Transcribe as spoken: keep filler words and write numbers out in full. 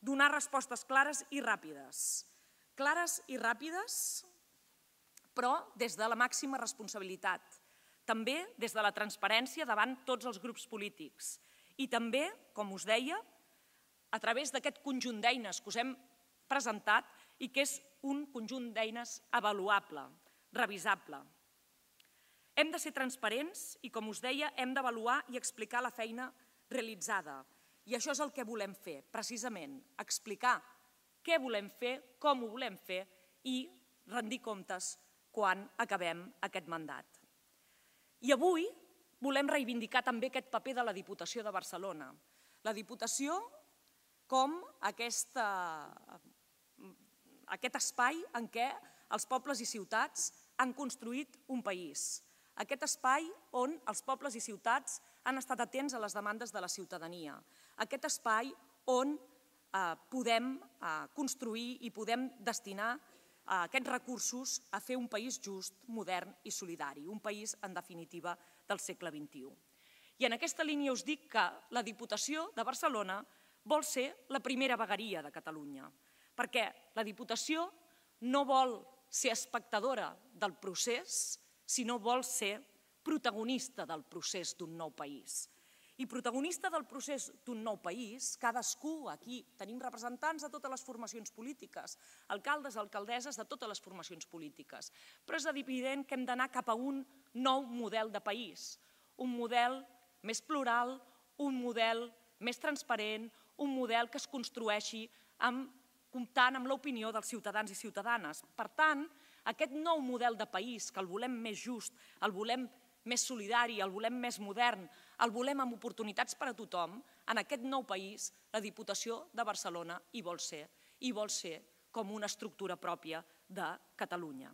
donar respostes clares i ràpides. Clares i ràpides, però des de la màxima responsabilitat. També des de la transparència davant tots els grups polítics. I també, com us deia, a través d'aquest conjunt d'eines que us hem presentat i que és un conjunt d'eines avaluable, revisable. Hem de ser transparents i, com us deia, hem d'avaluar i explicar la feina realitzada. I això és el que volem fer, precisament, explicar què volem fer, com ho volem fer i rendir comptes quan acabem aquest mandat. I avui volem reivindicar també aquest paper de la Diputació de Barcelona. La Diputació com aquest espai en què els pobles i ciutats han construït un país. Aquest espai on els pobles i ciutats han estat atents a les demandes de la ciutadania. Aquest espai on podem construir i podem destinar aquests recursos a fer un país just, modern i solidari, un país, en definitiva, del segle vint-i-u. I en aquesta línia us dic que la Diputació de Barcelona vol ser la primera vegueria de Catalunya, perquè la Diputació no vol ser espectadora del procés, sinó vol ser protagonista del procés d'un nou país. I protagonista del procés d'un nou país, cadascú, aquí tenim representants de totes les formacions polítiques, alcaldes, alcaldesses de totes les formacions polítiques, però és evident que hem d'anar cap a un nou model de país, un model més plural, un model més transparent, un model que es construeixi comptant amb l'opinió dels ciutadans i ciutadanes. Per tant, aquest nou model de país, que el volem més just, el volem més solidari, el volem més modern, el volem amb oportunitats per a tothom, en aquest nou país la Diputació de Barcelona hi vol ser, i vol ser com una estructura pròpia de Catalunya.